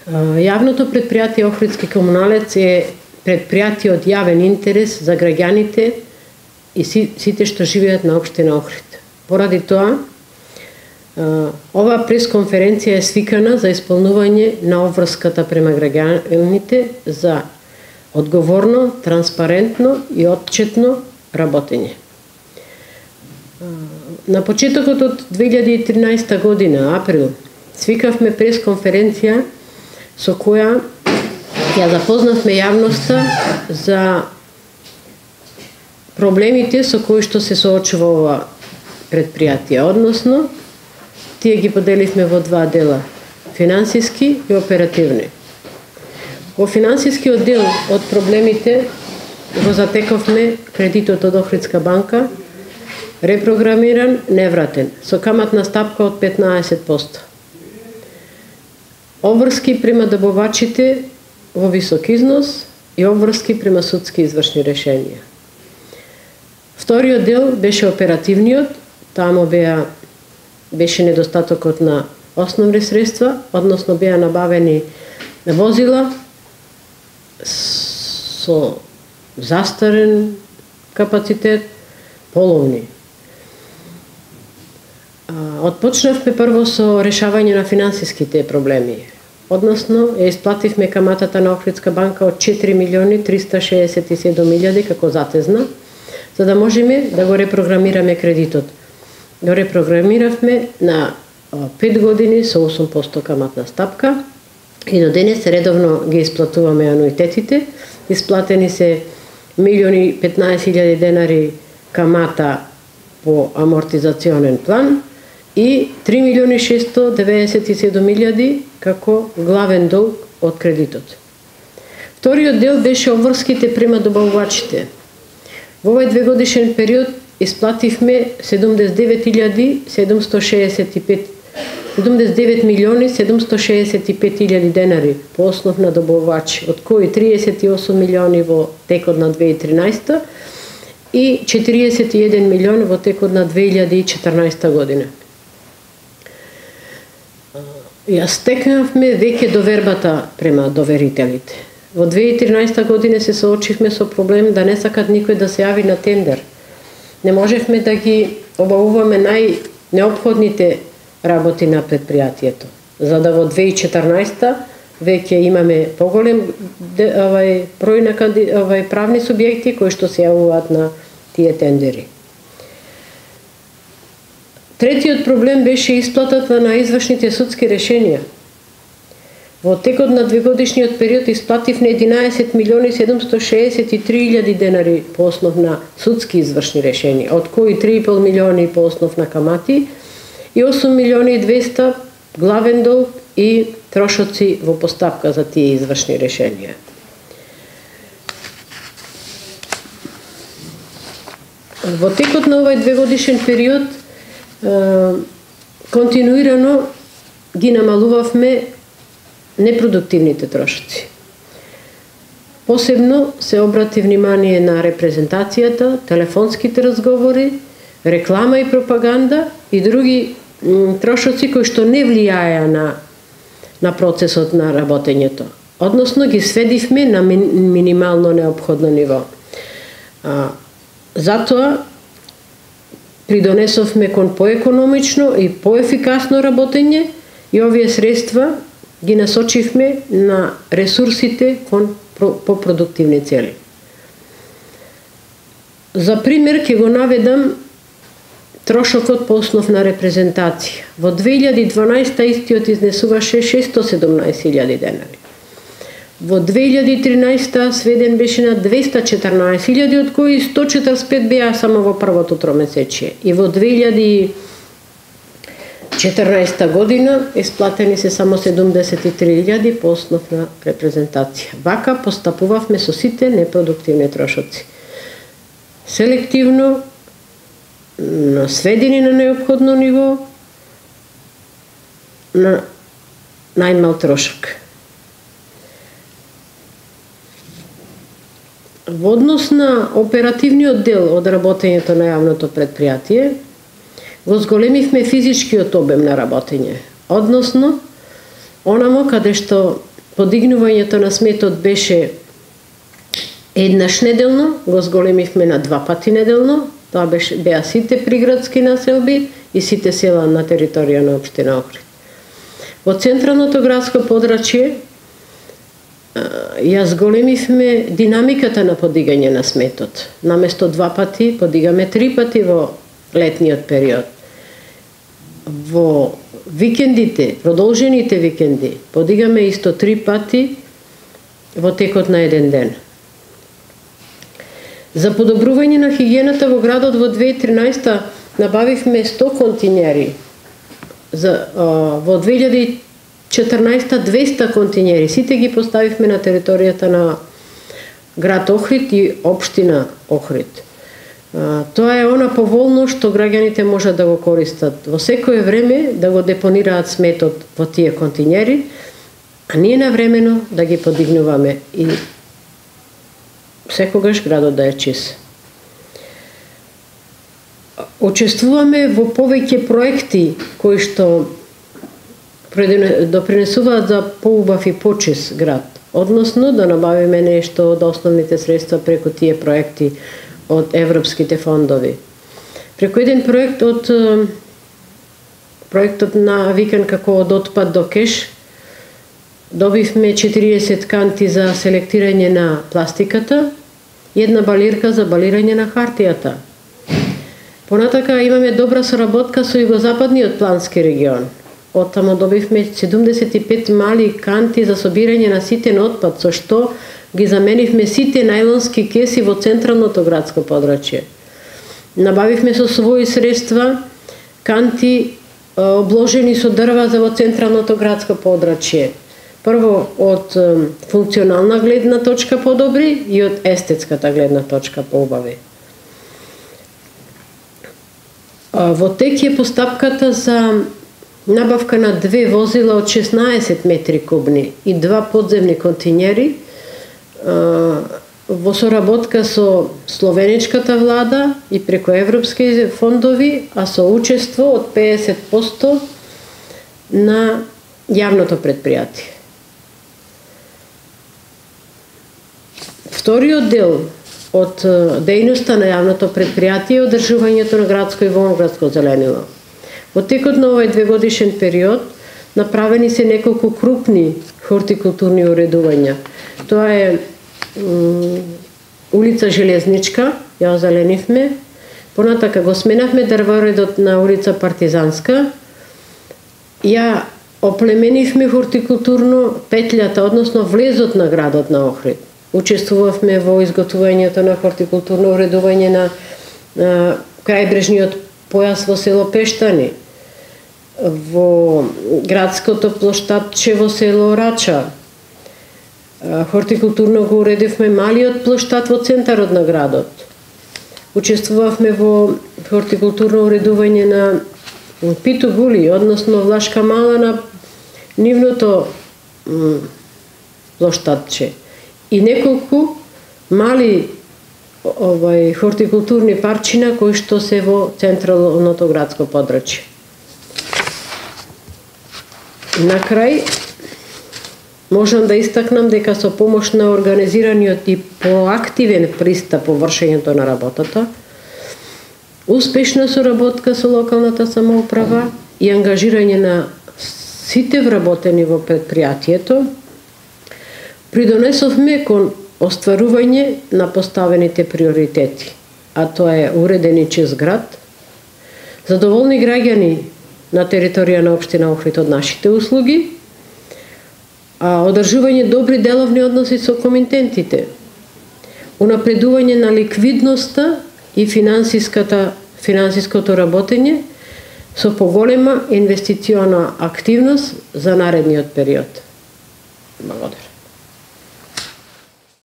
Јавното предпријатие Охридски комуналец е предпријатие од јавен интерес за граѓаните и сите што живеат на општина Охрид. Поради тоа, ова пресконференција е свикана за исполнување на обврската према граѓаните за одговорно, транспарентно и отчетно работење. На почетокот од 2013 година, април, свикавме пресконференција со која ја запознавме јавноста за проблемите со кои што се соочува ова предпријатие, односно тие ги поделивме во два дела: финансиски и оперативни. Во финансискиот дел од проблемите го затековме кредитот од Охридска банка, репрограмиран, невратен, со каматна стапка од 15%. Обврски према добавачите во висок износ и обврски према судски извршни решенија. Вториот дел беше оперативниот, таму беше недостатокот на основни средства, односно беа набавени возила со застарен капацитет, половни. Отпочнавме прво со решавање на финансиските проблеми, односно ја исплативме каматата на Охридска банка од 4.367.000 како затезна, за да можеме да го репрограмираме кредитот. Го репрограмиравме на 5 години со 8% каматна стапка и до денес редовно ги исплатуваме ануитетите. Исплатени се 1.015.000 денари камата по амортизационен план и 3.697.000 како главен долг од кредитот. Вториот дел беше обврските према добавувачите. Во овој двегодишен период исплативме 79.765.000 денари по основ на добавувачи, од кои 38 милиони во текот на 2013 и 41 милион во текот на 2014 година. Ја стекнавме веќе довербата према доверителите. Во 2013 година се соочивме со проблем да не сакат никој да се јави на тендер. Не можевме да ги обавуваме најнеопходните работи на предпријатието. За да во 2014 веќе имаме поголем број на правни субјекти кои што се јавуваат на тие тендери. Третиот проблем беше исплатата на извршните судски решенија. Во текот на двегодишниот период исплативме 11.763.000 денари по основ на судски извршни решенија, од кои 3,5 милиони по основ на камати и 8.200.000 главен долг и трошоци во постапка за тие извршни решенија. Во текот на овој двегодишен период континуирано ги намалувавме непродуктивните трошоци. Посебно се обрати внимание на репрезентацијата, телефонските разговори, реклама и пропаганда и други трошоци кои што не влијаја на процесот на работењето. Односно ги сведивме на минимално неопходно ниво. Затоа придонесовме кон поекономично и поефикасно работење и овие средства ги насочивме на ресурсите кон попродуктивни цели. За пример ќе го наведам трошокот по основ на репрезентација. Во 2012 истиот изнесуваше 617.000 денари. Во 2013 сведен беше на 214.000, од кои 145 беа само во првото тромесечие. И во 2014 година исплатени се само 73.000 по основ на репрезентација. Вака постапувавме со сите непродуктивни трошоци. Селективно, сведени на неопходно ниво, на најмал трошок. Во однос на оперативниот дел од работењето на јавното предпријатие, го зголемивме физичкиот обем на работење, односно онамо каде што подигнувањето на сметот беше еднаш неделно, го зголемивме на 2 пати неделно. Тоа беа сите приградски населби и сите села на територија на општина Охрид. Во централното градско подрачје ја зголемивме динамиката на подигање на сметот. Наместо 2 пати, подигаме 3 пати во летниот период. Во викендите, продолжените викенди, подигаме исто 3 пати во текот на еден ден. За подобрување на хигиената во градот во 2013 набавивме 100 континери. Во 2014 200 континери. Сите ги поставивме на територијата на град Охрид и општина Охрид. Тоа е она поволно што граѓаните можат да го користат во секое време, да го депонираат сметот во тие континери, а ние навремено да ги подигнуваме и секогаш градот да е чист. Учествуваме во повеќе проекти кои што допринесуваат за поубав и почист град, односно да набавиме нешто од основните средства преку тие проекти од европските фондови. Преку еден проектот навикан како од отпад до кеш, добивме 40 канти за селектирање на пластиката и една балирка за балирање на хартијата. Понатака имаме добра соработка со југозападниот плански регион. Оттаму добивме 75 мали канти за собирање на ситен отпад, со што ги заменивме сите најлонски кеси во централното градско подрачје. Набавивме со своји средства канти обложени со дрва за во централното градско подрачје. Прво од функционална гледна точка подобри и од естетската гледна точка поубави. Во тек е постапката за набавка на 2 возила од 16 метри кубни и 2 подземни континери во соработка со словеничката влада и преку европски фондови, а со учество од 50% на јавното предпријатие. Вториот дел од дејноста на јавното предпријатие е одржувањето на градско и воноградско зеленило. Во текот на овој 2-годишен период направени се неколку крупни хортикултурни уредувања. Тоа е улица Железничка, ја озеленивме, понатака го сменавме дрворедот на улица Партизанска, ја оплеменивме хортикултурно петлјата, односно влезот на градот на Охрид. Учествувавме во изготвувањето на хортикултурно уредување на крајбрежниот појас во село Пештани, во градското плоштадче во село Рача. Хортикултурно го уредивме малиот плоштад во центарот на градот. Учествувавме во хортикултурно уредување на Питу Гули, односно Влашка Мала на нивното плоштадче. И неколку мали хортикултурни парчина кои што се во централното градско подрачје. На крај, можам да истакнам дека со помош на организираниот и проактивен пристап во вршењето на работата, успешна соработка со локалната самоуправа и ангажирање на сите вработени во предпријатието, придонесовме кон остварување на поставените приоритети, а тоа е уреден и чист град, задоволни граѓани на територија на општина Охрид од нашите услуги, одржување добри деловни односи со комитентите, унапредување на ликвидноста и финансиското работење со поголема инвестициона активност за наредниот период. Благодарам.